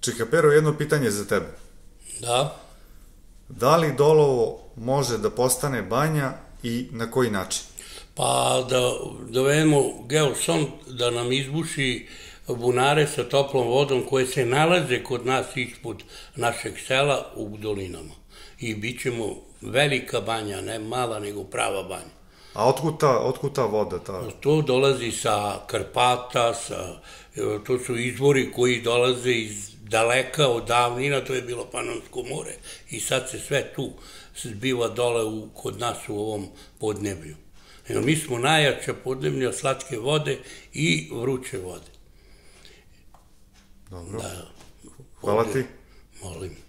Čika Pero, jedno pitanje za tebe. Da. Da li Dolovo može da postane banja i na koji način? Pa da dovedemo geosond da nam izbuši bunare sa toplom vodom koje se nalaze kod nas ispod našeg sela u dolinama. I bit ćemo velika banja, ne mala nego prava banja. A otkud ta voda? To dolazi sa Karpata, to su izvori koji dolaze iz daleka, od davnina, to je bilo Panonsko more i sad se sve tu zbiva dole kod nas u ovom podneblju. Mi smo najjača podneblja slatke vode i vruće vode. Dobro. Hvala ti. Molim.